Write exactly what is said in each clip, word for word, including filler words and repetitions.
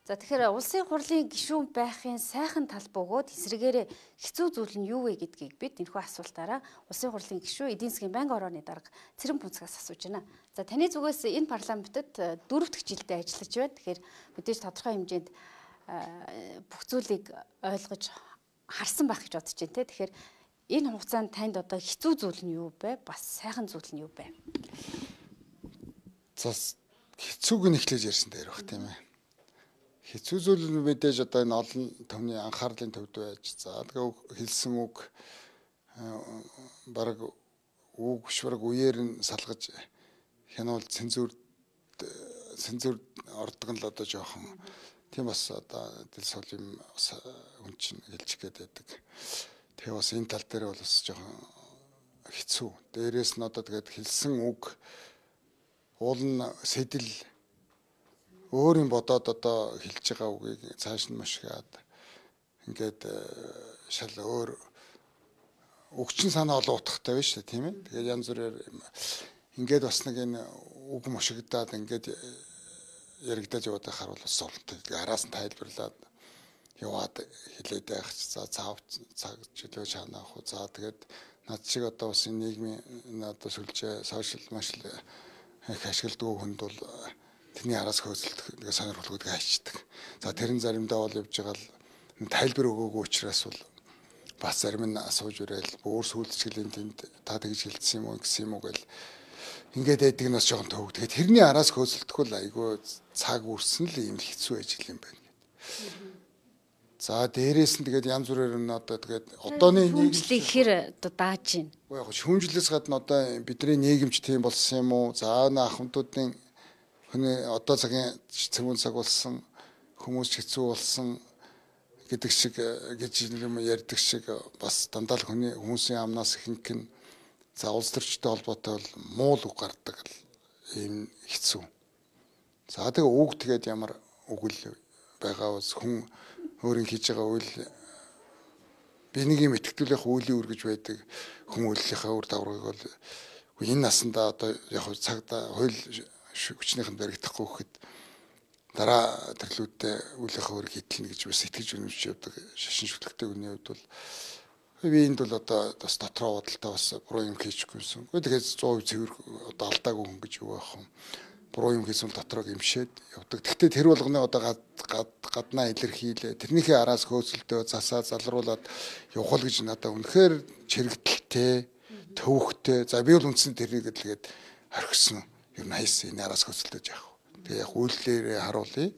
За тэгэхээр улсын хурлын гишүүн байхын сайхан тал бөгөөд эсрэгээрээ хэцүү зүйл нь юу вэ гэдгийг бид энэхүү асуултаараа улсын хурлын гишүүн эдийн засгийн байнгын орооны дарга Цэрэн Пүнцгээс асууж байна. За таны зүгээс энэ парламентод дөрөв дэх жилдээ ажиллаж байна. Тэгэхээр мэдээж тодорхой хэмжээнд бүх зүйлийг ойлгож харсан байх гэж бодож байна те. Тэгэхээр энэ хугацаанд танд одоо хэцүү зүйл нь юу вэ? Бас сайхан зүйл нь юу вэ? За хэцүүг нь эхлэж ярьсан дээр баг тийм ээ. Хэцүү зүйл нь мэдээж одоо энэ олон төвний анхаарлын төвд байж за тэгээ хэлсэн үг бараг үг шварг үеэр нь салгаж хянуул цензур цензур ордог нь л одоо жоохон тийм бас одоо дэл сул юм хүн чинь хэлж гээд байдаг. Тэгээ бас энэ тал дээр бол бас жоохон хэцүү. Дээрээс нь одоо тэгээд хэлсэн үг уул нь сэтэл өөрийн бодоод одоо хэлж байгаа үгийг цааш нь машгаад ингээд шал өөр өгчин санаа олоотхтай байна шүү дээ тийм ээ. Тэгээд янз бүрээр ингээд бас нэг энэ үг мушигдаад ингээд яригдаж яваад байхаар бол суулттай. Тэгээд араас нь тайлбарлаад яваад хэлээд байх ч за цаав цаг чөлөө чанаа ах. За тэгээд над шиг одоо бас энэ нийгмийн одоо сүлжээ сошиал машл их ашигладаг хүнд бол тэрний араас хөөцөлдөх нэг сонирхолтой гэдгийг хайчдаг. За тэрэн заримдаа бол явж байгаа л тайлбар өгөөгүй учраас бол бас зарим нь асууж ирээл өөр сүүлчгэлийн тэнд та тэгж хэлсэн юм уу гэсэн юм уу гэл ингээд байдаг нь бас жоохон төвөг. Тэгэхээр тэрний араас хөөцөлдөх бол айгүй цаг үрсэн л юм хэцүү ажил юм байна. За дээрээс нь тэгээд янз бүрээр нь одоо тэгээд одооны нийгэмчлийг хэр одоо дааж байна. Яг шүүмжлээс гадна одоо бидний нийгэмч тийм болсон юм уу? За ана ахмадуудын хүний одоо цагийн цэвүүн цаг болсон хүмүүс хэцүү болсон гэдэг шиг гэж юм ярьдаг шиг бас дандаа л хүний хүмүүсийн амнаас ихэнх нь за улс төрчтэй холбоотой бол муул үг гардаг ийм хэцүү. За тэгээ үг тэгээд ямар үгэл байгаа бас хүн өөрийн хийж байгаа үйл би нэг юм итгэвлэх үеийн үр гэж байдаг хүмүүлийнхаа үр дагаврыг бол энэ насандаа одоо яг цагта хууль хүчнийхэн баригдахгүй гэхэд дараа төрлүүдтэй үлээх өөр хийдэлнэ гэж бас итгэж үнэмж явдаг шашин шүтлэгтэй хүний хувьд бол би энд бол одоо бас дотроо бодолтой бас буруу юм хийчихгүйсэн. Тэгээд сто процент цэвэр одоо алдаагүй хүн гэж юу байх юм. Буруу юм хийсэн дотроо гимшээд явдаг. Гэхдээ тэр болгоны одоо гаднаа илэрхийлээ. Тэрнийхээ араас хөөцөлдөө засаа залруулад явах гэж надад үнэхээр чирэгдэлтэй, төвөгтэй. За би бол үндсэн тэрийг хэлгээд орхисон. Ер нь хайсан энэ араас хөөцөлдөж яах вэ? Тэгээ яг үйлдэлээр харуулъя.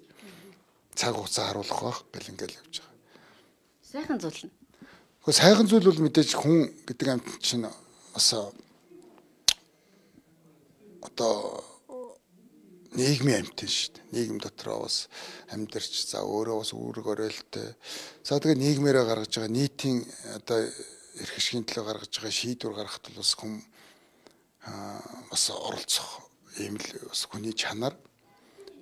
Цаг хугацаа харуулах байх гэл ингээл явж байгаа. Сайхан зүйл нь. Гэхдээ сайхан зүйл бол мэдээж хүн гэдэг амт чинь бас одоо нийгмийн амьтан шүү дээ. Нийгэм дотроо бас амьдарч за өөрөө бас үүрэг оройлтой. За тэгээ нийгмээрээ гаргаж байгаа нийтийн одоо эрх ашигын төлөө гаргаж байгаа шийдвэр гаргахад бол бас хүн бас оролцох ийм л бас хүний чанар.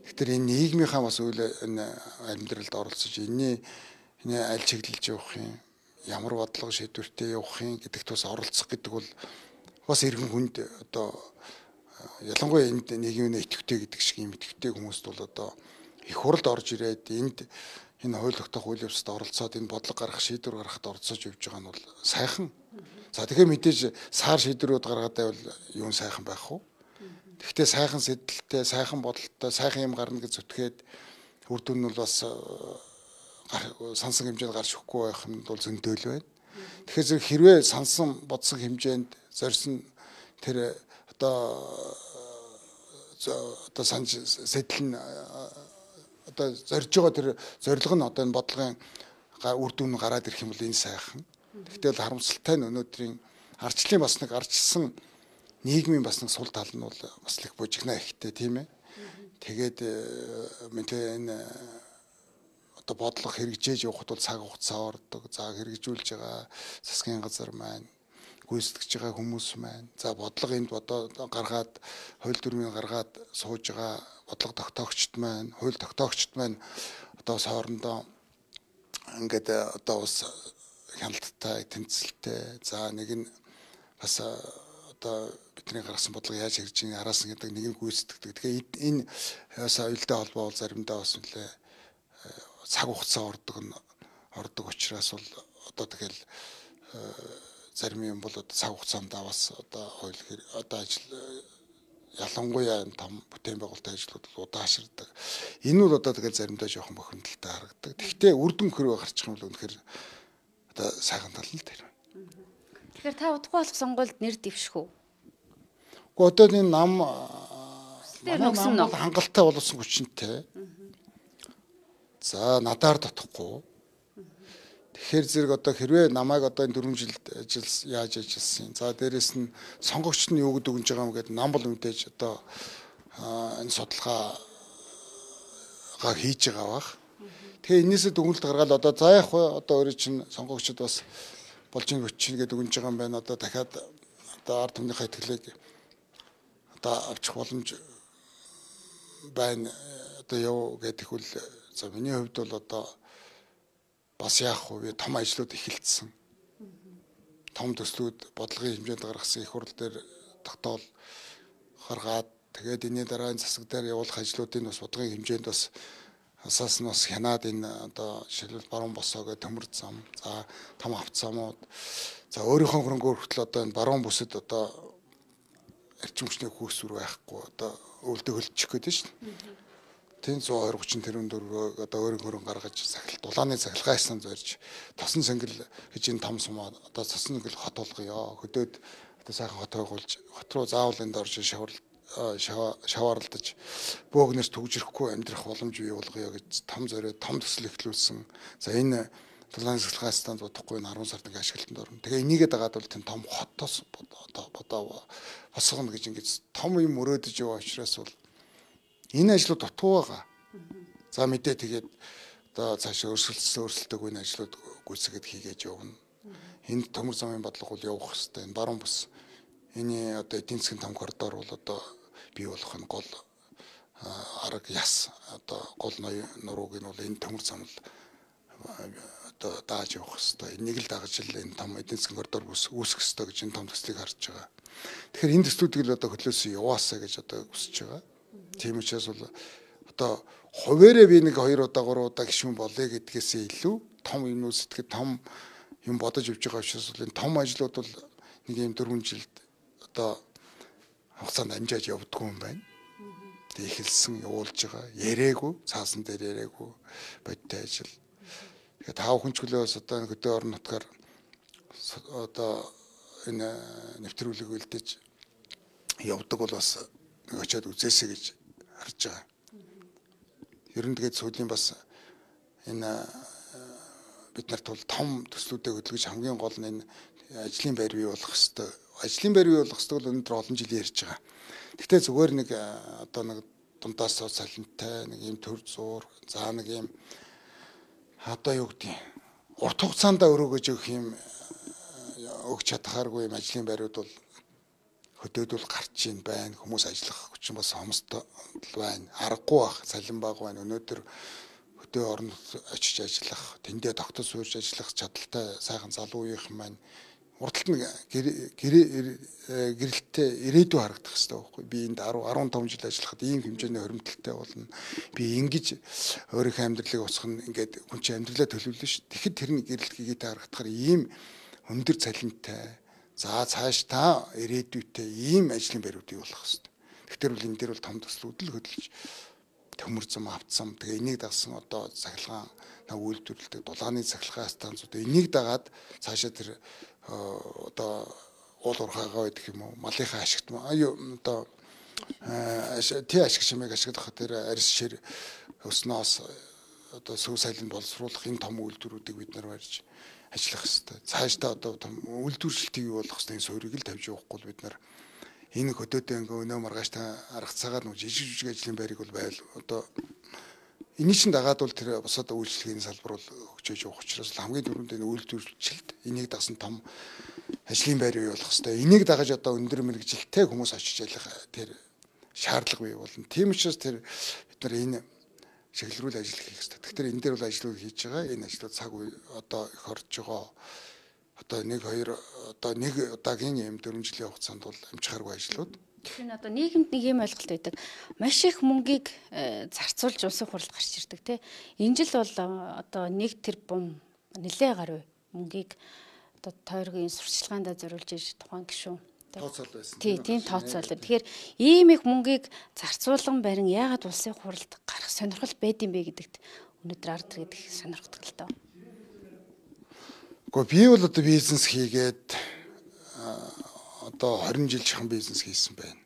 Тэгэхээр энэ нийгмийнхаа бас үйл энэ амьдралд оролцож энэний энэ аль чиглэлж явах юм, ямар бодлого шийдвэртэй явах юм гэдэгт бас оролцох гэдэг бол бас иргэн хүнд одоо ялангуяа энд нийгмийн идэвхтэй гэдэг шиг юм идэвхтэй хүмүүст бол одоо их хуралд орж ирээд энд энэ хууль тогтоох үйл явцад оролцоод энэ бодлого гаргах шийдвэр гаргахад оролцож явж байгаа нь бол сайхан. За тэгэхээр мэдээж саар шийдвэрүүд гаргаад байвал юу сайхан байх вэ? Гэхдээ сайхан сэдэлтэй, сайхан бодолтой, сайхан юм гарна гэж зүтгээд үр дүн нь бол бас сансан хэмжээнд гарч өгөхгүй байх нь бол зөндөөл байна. Тэгэхээр хэрвээ сансан бодсон хэмжээнд зорьсон тэр одоо одоо санж сэтэл нь одоо зорж байгаа тэр зорилго нь одоо энэ бодлогын үр дүн гараад ирэх юм бол энэ сайхан. Гэхдээ л харамсалтай нь өнөөдрийн арчлын бас нэг арчилсан нийгмийн бас нэг сул тал нь бол бас л их бужигнаа ихтэй тийм ээ. Тэгээд мэдээ энэ одоо бодлого хэрэгжээж явахд бол цаг хугацаа ордог. За хэрэгжүүлж байгаа засгийн газар маань гүйцэтгэж байгаа хүмүүс маань за бодлого энд бодоо гаргаад хууль дүрмийг гаргаад сууж байгаа бодлого тогтоогчд маань хууль тогтоогчд маань одоо хоорондоо ингээд одоо бас хяналттай тэмцэлтэй за нэг нь бас одоо бидний гаргасан бодлого яаж хэрэгжиж байгааг араас нь гэдэг нэг нь гүйцэтгэдэг. Тэгэхээр энэ соёлтой холбоо бол заримдаа бас нэлээ цаг хугацаа ордог нь ордог учраас бол одоо тэгэл зарим юм бол одоо цаг хугацаанд бас одоо хууль одоо ажил ялангуяа том бүтээн байгуулалтын ажлууд удаашрдаг. Энэ бол одоо тэгэл заримдаа жоохон бохимдолтой харагддаг. Гэхдээ үр дүн хөрөө гарчих юм бол үнэхээр одоо сайхан тал нь тэр. Тэгэхээр та удахгүй болох сонгуульд нэр дэвших үү? Гэхдээ одоо энэ нам нөхсөн нь хангалттай болсон хүчинтэй. За надаар дотохгүй. Тэгэхээр зэрэг одоо хэрвээ намайг одоо энэ дөрвөн жилд ажил яаж ажилласан. За дээрэс нь сонгогчд нь юу гэдэг өгж байгаа юм гээд нам бол мэдээж одоо энэ судалгаагаа хийж байгаа бах. Тэгээ энээсээ дүгнэлт гаргаад одоо за яг одоо өөрөө чинь сонгогчд бас болж ин өчнө гэдэг өгж байгаа юм байна. Одоо дахиад одоо ард түмнийхээ итгэлийг одоо авчих боломж байна. Одоо яв гэдэг хөл за миний хувьд бол одоо бас яах вэ? Том ажлууд эхэлсэн. Том төслүүд бодлогын хэмжээнд гаргасан их хурл дээр тогтоол гаргаад тэгээд энэний дараагийн засаг дээр явуулах ажлуудын бас бодлогын хэмжээнд бас асаас нь бас хянаад энэ одоо жишээлбэл баруун босоо гэх төмөр зам, за том авцамууд, за өөрийнхөө хөрөнгөөр хүртэл одоо энэ баруун бүсэд одоо эрчим хүчний хөөсвөр байхгүй одоо өвөлдө хөлчих гээд шүү дээ. Тэн сто хоёр гучин тэрбум дөрвөө одоо өөрийн хөрөнгө гаргаж сахилт дулааны сахилгаасан зорж тосон сэнгэл гэж энэ том сумаа одоо тосон сэнгэл хот болгоё. Хөдөөд одоо сайхан хот байгуулж хот руу заавал энд орж шавар шаваарлдаж бөөгнөөс төгжрөхгүй амьдрах боломж бий болгоё гэж том зориод том төсөл эхлүүлсэн. За энэ дулааны сахилгаасан зодохгүй энэ арван сард ингээ ашиглалтанд орно. Тэгээ энийгээ дагаад бол тэн том хотоос одоо бодоо босгоно гэж ингэж том юм өрөөдөж яваа учраас бол энэ ажлууд дутуу байгаа. За мэдээ тэгээд одоо цаашаа өрсөлдсөн өрсөлдөг үе ажлууд гүйцэтгэд хийгээд явна. Энд төмөр замын бодлого бол явах хэрэгтэй. Энэ баруун бус энэ одоо эдийн засгийн том коридор бол одоо бий болох нь гол арга яс одоо гол нурууг нь бол энэ төмөр зам л одоо дааж явах хэрэгтэй. Энийг л дагаж л энэ том эдийн засгийн коридор үүсгэх хэрэгтэй гэж энэ том төслийг харж байгаа. Тэгэхээр энэ төслүүдийг л одоо хөлөөсөө яваасаа гэж одоо хүсэж байгаа. Тийм учраас бол одоо хуваараа би нэг хоёр удаа гурван удаа гишүүн болъё гэдгээсээ илүү том юм сэтгэл том юм бодож явж байгаа учраас бол энэ том ажлууд бол нэг юм дөрвөн жилд одоо хугацаанд амжааж явдггүй юм байна. Тэг эхэлсэн явуулж байгаа. Ярээгүй, цаасан дээр ярээгүй бодтой ажил. Тэгэхээр тав хүн ч хөлөөс одоо хөдөө орон нутгаар одоо энэ нэвтрүүлэг үлдээж явдаг бол бас очиод үзээсэй гэж харж байгаа. Ер нь тэгээд сүүлийн бас энэ бид нарт бол том төслүүдэд хөдөлгөж хамгийн гол нь энэ ажлын байр бий болох хэвээр. Ажлын байр бий болох хэвээр бол өнөөдөр олон жил ярьж байгаа. Гэхдээ зүгээр нэг одоо нэг дундаас салентай нэг юм төр зуур, за нэг юм одоо юу гэдэг урт хугацаанд өрөөгөж өгөх юм өгч чадхааргүй юм ажлын байрууд бол хөдөөд бол гарч ийн байна. Хүмүүс ажиллах хүчин бас хомсдол байна. Аргагүй бах, салин баг байна. Өнөөдөр хөдөө орнд очиж ажиллах, тэндээ тогтол суурьж ажиллах чадaltaй сайхан залуу үеийнхэн маань урталт нь гэрэлтээ ирээдүй харагдах хэрэгтэй байхгүй. Би энд десять том жил ажиллахад ийм хэмжээний хоримтлалтай болно. Би ингэж өөрийнхөө амьдралыг усгах нь ингээд хүн чинь амьдралаа төлөвлөн ш. Тэгэхэд тэр нь гэрэлт хийгээтэй харагдахаар ийм өндөр цалинтай. За цааш та ирээдүйтэй ийм ажлын байруудыг болох хэрэгтэй. Тэгэхээр бол энэ дээр бол том төслүүд л хөдөлж төмөр зам авцсан. Тэгээ энийг дагсан одоо цахилгаан үйлдвэрлэдэг дулааны цахилгаан станцууд энийг дагаад цаашаа тэр одоо уул уурхайгаа байдаг юм уу? Малынхаа ашигт одоо тий ашиг шимэг ашиглах тэр арьс шир өснөөс одоо сөв сайланд боловсруулах энэ том үйлдвэрүүдийг бид нар барьж ажиллах хэрэгтэй. Цаашдаа одоо том үйлдвэрчлэлтийг юу болох хэвээр суурийг л тавьж явахгүй бид нар энэ хөдөөдөө ингээ өнөө маргааш та арга цагаар нэг жижиг жижиг ажлын байрыг бол байл одоо энэ чинь дагаад бол тэр босоод үйлчлэгийн салбар бол хөгжиж явах учраас хамгийн түрүүнд энэ үйлдвэрчлэлт энийг дагсан том ажлын байр бий болох хэвээр. Энийг дагаж одоо өндөр мэрэгжилтэй хүмүүс очиж ажиллах тэр шаардлага бий болно. Тийм учраас тэр бид нар энэ чиглэлрүүл ажил хийх хэрэгтэй. Тэгэхээр энэ дээр бол ажлууд хийж байгаа. Энэ ажлууд цаг үе одоо их орж байгаа. Одоо нэг хоёр одоо нэг удаагийн юм дөрвөн жилийн хугацаанд бол амжихааргүй ажлууд. Энэ одоо нийгэмд нэг юм ойлголт байдаг. Маш их мөнгийг зарцуулж улсын хурлд гарч ирдэг тий. Энэ жил бол одоо нэг тэрбум нэлээ гаруй мөнгийг одоо тойргийн сурчлагаанд зориулж иж тухайн гишүүн тооцоол байсан. Тий, тийм тооцоол. Тэгэхээр ийм их мөнгийг зарцуулан барин яагаад улсын хурлд гарах сонирхол байд юм бэ гэдэгт өнөөдөр ард гэдэг сонирхдаг л доо. Гэхдээ би бол одоо бизнес хийгээд одоо хорин жил шахан бизнес хийсэн байна.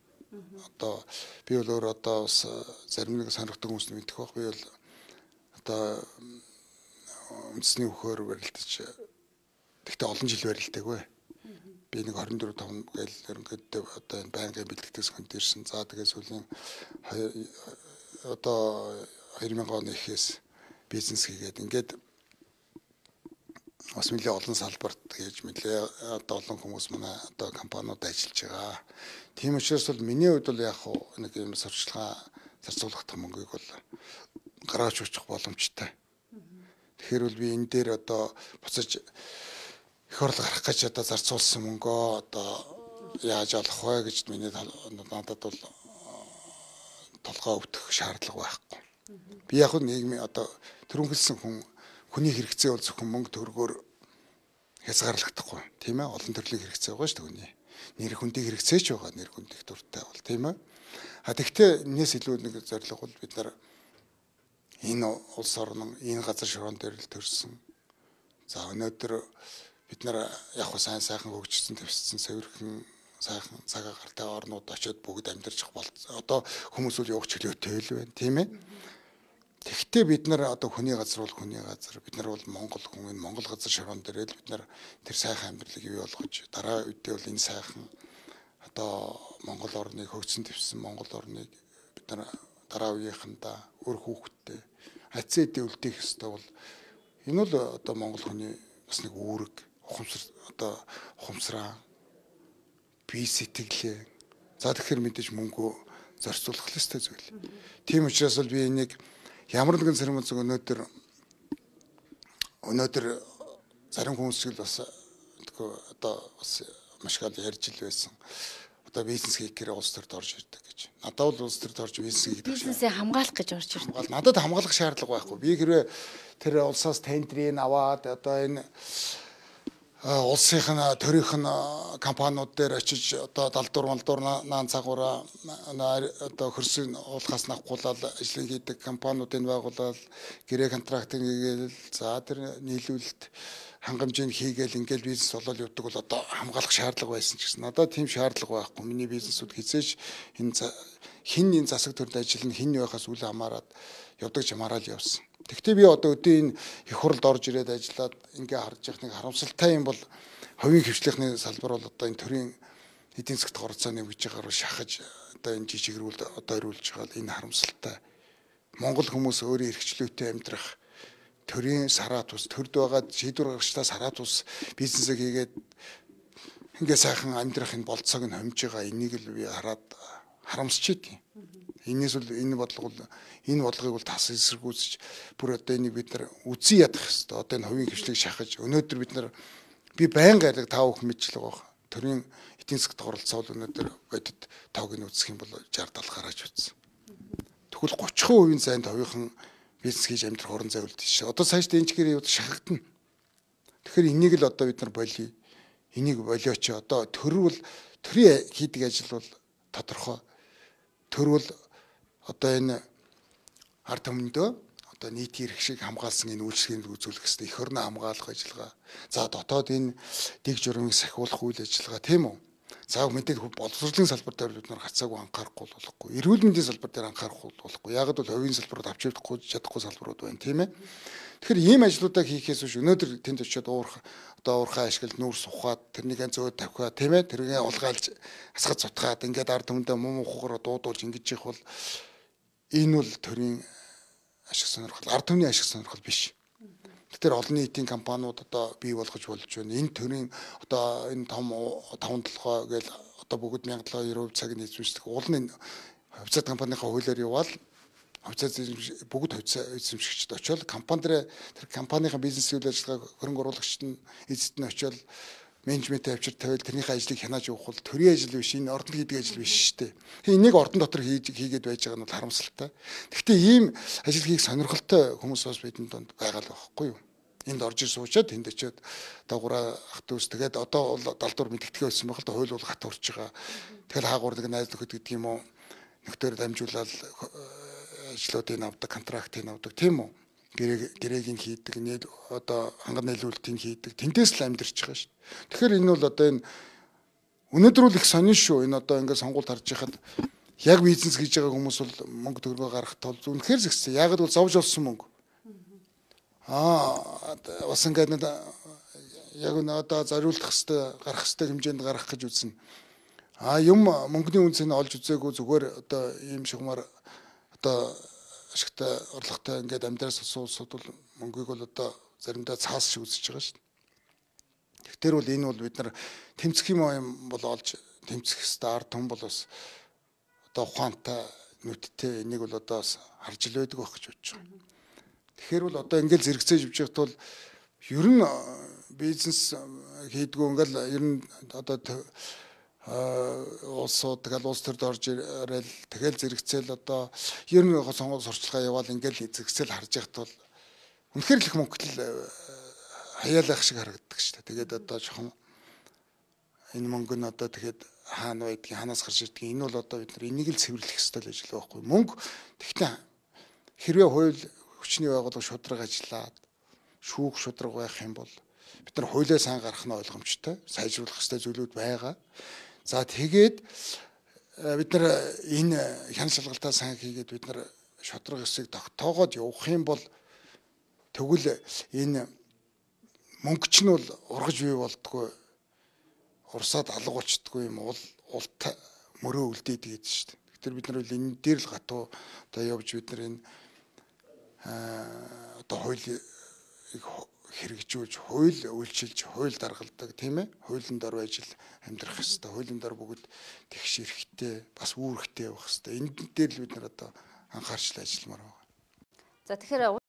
Одоо би бол өөр одоо бас зарим нэг сонирхдаг хүмүүс мэдэх байх. Би бол одоо үндэсний хөхөөр барилдаж тэгтээ олон жил барилдаагүй. Би нэг хорин дөрөв таван гээл ерөнхийдөө одоо энэ байнгын бэлтгэдэг хүнд ирсэн. За тэгээ сүүлийн одоо хоёр мянган оны эхээс бизнес хийгээд ингээд бас нэлээ олон салбарт гэж нэлээ одоо олон хүмүүс манай одоо компаниуд ажиллаж байгаа. Тийм учраас бол миний хувьд бол яг нэг юм сурчлага зарцуулах мөнгийг бол гаргаж очих боломжтой. Тэгэхээр бол би энэ дээр одоо буцаж их орлого гарах гэж одоо зарцуулсан мөнгөө одоо яаж олох вэ гэж миний надад бол толгой өвдөх шаардлага байхгүй. Би яг нийгмийн одоо төрөнхөлсөн хүн хүний хэрэгцээ бол зөвхөн мөнгө төгрөгөөр хязгаарлагдахгүй тийм ээ олон төрлийн хэрэгцээ байгаа шүү дээ. Нэр хүндийн хэрэгцээ ч байгаа нэр хүндих дуртай бол тийм ээ. А тэгвэл энэс илүү нэг зорилго бол бид нар энэ улс орн энэ газар шороон дээр л төрсөн. За өнөөдөр бид нар яг хөө сайн сайхан хөгжсөн твсцэн цэвэрхэн сайхан цагаа гартай орнууд очиод бүгд амьдарч бол одоо хүмүүс үл явах чөлөөтэй л байна тийм ээ. Тэгтээ бид нар одоо хүний газар бол хүний газар бид нар бол Монгол хүн энэ Монгол газар шороон дээр л бид нар тэр сайхан амьдралыг бий болгож дараа үедээ бол энэ сайхан одоо Монгол орныг хөгжсөн твссэн Монгол орныг бид нар дараа үеийнхэндээ өр хүүхэдтэй ацээдээ үлдээх ёстой бол энэ бол одоо Монгол хүний бас нэг үүрэг ухамсар одоо ухамсараа бие сэтгэлээ за тэгэхээр мэдээж мөнгөө зарцуулах ёстой зүйл. Тийм учраас бол би энийг ямар нэгэн цэрэг зөв өнөөдөр өнөөдөр зарим хүмүүс л бас одоо бас маш их ярьж ил байсан. Одоо бизнес хийх гэрээ улс төрд орж ирдэг гэж. Надад бол улс төрд орж бизнес хийдэг. Бизнесээ хамгаалах гэж орж ирдэг. Надад хамгаалах шаардлага байхгүй. Би хэрвээ тэр улсаас тендерийг аваад одоо энэ улсын төрийнх нь компаниуд дээр очиж одоо далдуур малдуур наан цагаараа одоо хөрсөг уулахаас навхуулаад ажил хийдэг компаниудыг байгуулаад гэрээ контрактыг хийгээл за тэр нийлүүлэлт хангамжийг хийгээл ингээл бизнес болол явдаг бол одоо хамгаалах шаардлага байсан ч гэсэн надад тийм шаардлага байхгүй. Миний бизнесүүд хизээш энэ хин энэ засаг төрд ажил нь хин байхаас үл хамааран явдаг жамаараа л явсан. Тэгвэл би одоо өдөө энэ их хурлд орж ирээд ажиллаад ингээ харж явах нэг харамсалтай юм бол хувийн хвшлийнхны салбар бол одоо энэ төрийн эдийн засгт оролцоо нэмж байгаагаар шахаж одоо энэ жижигрүүл одоо ирүүлж байгаа энэ харамсалтай. Монгол хүмүүс өөрийн эрхчлөөтэй амьдрах төрийн сараа тус төрд байгаа шийдвэр гаргагчдаа сараа тус бизнесээ хийгээд ингээ сайхан амьдрах энэ болцоог нь хомж байгаа энийг л би хараад харамсч идэв. Энээс бол энэ бодлого бол энэ бодлогыг бол тас эсэргүүцэж бүр одоо энийг бид нар үзий ядах хэрэгтэй. Одоо энэ хувийн хвшлийг шахаж өнөөдөр бид нар би байнга алиг тав их мэдчлэг байгаа. Төрийн эдийн засгт оролцоол өнөөдөр бодит тоог нь үзэх юм бол шестьдесят70 гараж утсан. Тэгвэл thirty percent зайд хувийнхан бизнес хийж амьдрах орон зай үлдэж шээ. Одоо цааш дэнчгэрийн юу шахагдана. Тэгэхээр энийг л одоо бид нар болий. Энийг болиоч одоо төр бол төрийн хийдэг ажил бол тодорхой. Төр бол одоо энэ ард түмэндөө одоо нийтийн эрх шиг хамгаалсан энэ үйлчлэгийг үзүүлэх хэрэгтэй. Эх орноо хамгаалах ажиллагаа. За дотоод энэ дэг журмыг сахиулах үйл ажиллагаа тийм үү? За мэдээд боловсролын салбар дээр бид нар хацаагүй анхаарахгүй болохгүй. Эрүүл мэндийн салбар дээр анхаарахгүй болохгүй. Яг л хувийн салбарууд авч явахгүй чадахгүй салбарууд байна тийм ээ. Тэгэхээр ийм ажлуудаа хийхээс биш өнөөдөр тэнд очиод уурах одоо уурхай ашиглал нүүрс ухаад тэрнийг зөөд тавихаа тийм ээ тэргээ улгаалж асгад цутгаад ингээд ард түмэндээ муу мухаараа дуудуулж ингэж их бол энэ бол төрийн ашиг сонирхол ард түмний ашиг сонирхол биш. Тэгэхээр олон нийтийн компаниуд одоо бий болгож болж байна. Энэ төрийн одоо энэ том таван толгой гээл одоо бүгд one thousand seven hundred цаг нийцүүлдэг. Уул нь хувьцаат компанийнхаа хуулиар явбал хувьцаат бүгд хувьцаа эзэмшигчд очиод компани дээр тэр компанийн бизнес үйл ажиллагааг хөрөнгө оруулагчид нь эзэд нь очиод менежментийн авчир тавиал тэрнийхээ ажлыг хянаж явах бол төрийн ажил биш, энэ ордон хийдэг ажил биш шүү дээ. Тэгээ энийг ордон дотор хийж хийгээд байж байгаа нь бол харамсалтай. Гэхдээ ийм ажил хийх сонирхолтой хүмүүс бас бидний донд байгаа л байхгүй юу? Энд орж ир суучаад тэнд очиод дагуура ах дүүс тэгээд одоо бол далдуур мэдгэдгээ байсан байх л да, хууль бол хат урж байгаа. Тэгэл хаагуурдаг найз нөхөд гэдэг юм уу? Нөхдөр дамжуулаад ажлуудыг авдаг, контрактыг авдаг тийм үү? Гэрээг нь хийдэг, нийл одоо ханган нийлүүлэлтийг хийдэг. Тэнтээс л амьдарч байгаа шүү. Тэгэхээр энэ бол одоо энэ өнөөдөр л их сонин шүү. Энэ одоо ингээд сонгуульд харж байхад яг бизнес хийж байгаа хүмүүс бол мөнгө төгрөгөө гаргах тул үнэхээр зэгцсэн. Яг л зовж олсон мөнгө. Аа бас ингээд яг нь одоо зориулах хэвээр гарах хэвээр хэмжээнд гарах гэж үзнэ. А юм мөнгөний үнцийг олж үзээгүй зүгээр одоо ийм шигмар одоо ашигтай орлоготой ингээд амьдраас улсууд бол мөнгийг бол одоо заримдаа цаас шиг үзэж байгаа шүү дээ. Тэгэхээр бол энэ бол бид нар тэмцэх юм юм бол олж тэмцэх хэвээр ард том бол бас одоо ухаантай нүдтэй энийг бол одоо харж л байдаг байх гэж бодож байгаа. Тэгэхээр бол одоо ингээд зэрэгцээж явж байхад бол ер нь бизнес хийдгүү ингээд ер нь одоо улсууд тэгэл улс төрд орж ирэл тэгэл зэрэгцээл одоо ер нь сонгуул сурчлагаа яваал ингээл зэрэгцээл харж яхад бол үнэхээр л их мөнгөл хаяалах шиг харагддаг шүү дээ. Тэгээд одоо жоохон энэ мөнгө нь одоо тэгэхэд хаана байдгийг ханаас гарч ирдгийг энэ бол одоо бид нар энийг л цэвэрлэх ёстой л ажил байхгүй. Мөнгө тэгтээ хэрвээ хууль хүчний байгууллага шудраг ажиллаад шүүх шудраг байх юм бол бид нар хуулиа сайн гаргах нь ойлгомжтой. Сайжруулах ёстой зүйлүүд байгаа. За тэгээд бид нар энэ хяналт шалгалтаа сайн хийгээд бид нар шудраг ёсыг тогтоогоод явах юм бол тэгвэл энэ мөнгө ч нь бол ургаж бий болдгоо урсаад алга болчдгүй юм бол улт мөрөө үлдээд гээд шүү дээ. Тэгэхээр бид нар бол энэ дээр л гатуу одоо явж бид нар энэ одоо хуулийг хэрэгжүүлж, хууль үйлчилж, хууль даргалдаг тийм ээ. Хуулийн дор байж л амьдрах хэрэгтэй. Хуулийн дор бүгд тэгш эрэхтэй, бас үүрэгтэй явах хэрэгтэй. Энэ дээр л бид нар одоо анхаарч ажилламаар байна. За тэгэхээр